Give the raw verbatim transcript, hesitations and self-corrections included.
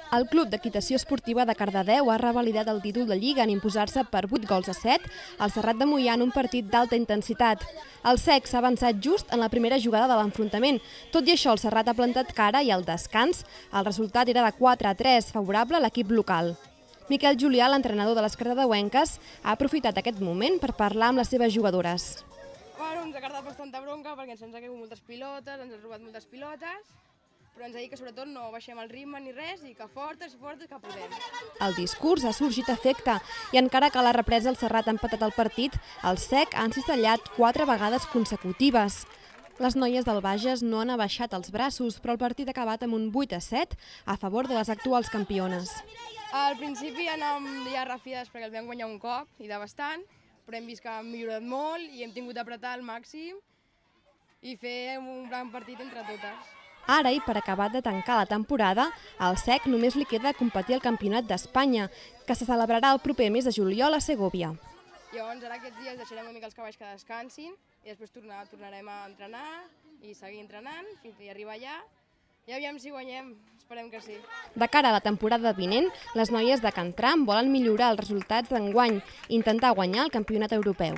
El Club d'Equitació Esportiva de Cardedeu ha revalidat el títol de Lliga en imposar-se per vuit gols a set al Serrat de Moià en un partit d'alta intensitat. El S E C s'ha avançat just en la primera jugada de l'enfrontament. Tot i això, el Serrat ha plantat cara i al descans el resultat era de quatre a tres, favorable a l'equip local. Miquel Julià, l'entrenador de les cardedeuenques, ha aprofitat aquest moment per parlar amb les seves jugadores. Bueno, ens ha cardat bastanta bronca perquè ens han caigut moltes pilotes, ens han robat moltes pilotes, però ens ha dit que sobretot no baixem el ritme ni res i que fortes i fortes que podem. El discurs ha sorgit efecte i encara que a la represa el Serrat ha empatat el partit, el S E C ha encistellat quatre vegades consecutives. Les noies del Bages no han abaixat els braços, però el partit ha acabat amb un vuit a set a favor de les actuals campiones. Al principi anàvem ja refiades perquè el vam guanyar un cop i de bastant, però hem vist que hem millorat molt i hem tingut d'apretar al màxim i fer un gran partit entre totes. Ara, i per acabar de tancar la temporada, al S E C només li queda competir al Campionat d'Espanya, que se celebrarà el proper mes de juliol a Segòvia. Llavors, ara aquests dies deixarem una mica els cavalls que descansin i després tornar, tornarem a entrenar i seguir entrenant fins a arribar allà. I aviam si guanyem, esperem que sí. De cara a la temporada vinent, les noies de Can Tram volen millorar els resultats d'enguany i intentar guanyar el campionat europeu.